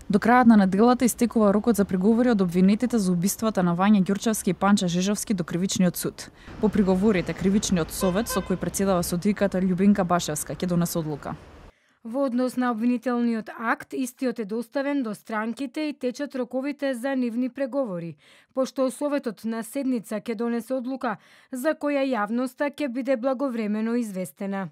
До крајот на неделата истекува рокот за приговори од обвинетите за убиствата на Вања Ѓурчевски и Панча Жежовски до кривичниот суд. По приговорите, кривичниот совет со кој претседава судиката Љубинка Башевска ќе донесе одлука. Во однос на обвинителниот акт, истиот е доставен до странките и течат роковите за нивни преговори, пошто советот на седница ќе донесе одлука за која јавноста ќе биде благовремено известена.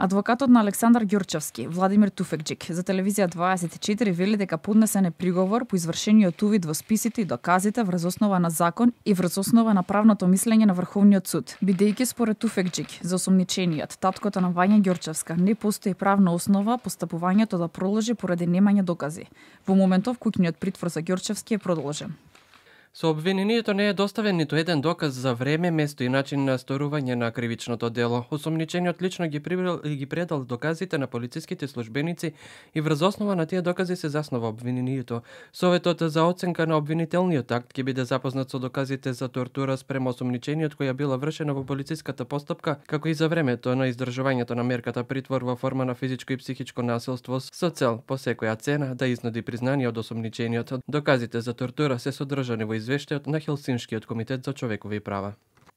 Адвокатот на Александар Ѓурчевски, Владимир Туфекџик, за телевизија 24 вели дека поднесен е приговор по извршениот увид во списите и доказите врз основа на закон и врз основа на правното мислење на Врховниот суд. Бидејќи според Туфекџик, за осомничениот, таткото на Вања Ѓурчевска, не постои правна основа постапувањето да продолжи поради немање докази. Во моментов куќниот притвор за Ѓурчевски е продолжен. Со обвинението не е доставен ниту еден доказ за време, место и начин на сторување на кривичното дело. Осомничениот лично ги предал доказите на полициските службеници и врз основа на тие докази се заснова обвинението. Советот за оценка на обвинителниот акт ќе биде запознат со доказите за тортура спрема осомничениот која била вршена во полициската постапка, како и за времето на издржувањето на мерката притвор во форма на физичко и психичко насилство со цел по секоја цена да изнуди признание од осомничениот. Доказите за тортура се содржани во извештајот на Хелсиншкиот комитет за човекови права.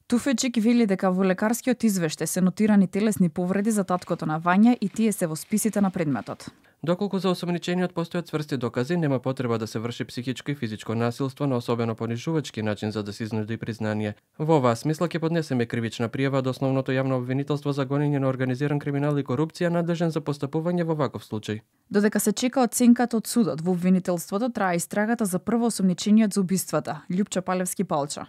Туфечик вели дека во лекарскиот извештај се нотирани телесни повреди за таткото на Вања и тие се во списите на предметот. Доколку за осомничениот постојат цврсти докази, нема потреба да се врши психичко и физичко насилство на особено понижувачки начин за да се изнуди признание. Во оваа смисла ќе поднесеме кривична пријава од основното јавно обвинителство за гонење на организиран криминал и корупција надлежен за постапување во ваков случај. Додека се чека оценката од судот во обвинителството, трае истрагата за прво осомничениот за убиствата, Љупчо Палевски Палча.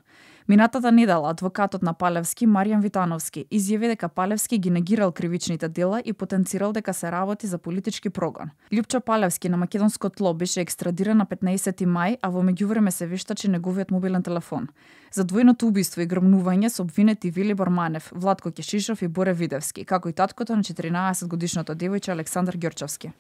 Минатата недела адвокатот на Палевски, Маријан Витановски, изјави дека Палевски ги негирал кривичните дела и потенцирал дека се работи за политички прогон. Љупчо Палевски на македонско тло беше екстрадиран на 15 мај, а во меѓувреме се вештачи неговиот мобилен телефон. За двојното убиство и грмнување се обвинети Велибор Манев, Владко Кешишов и Боре Видевски, како и таткото на 14 годишното девојче Александар Ѓурчевски.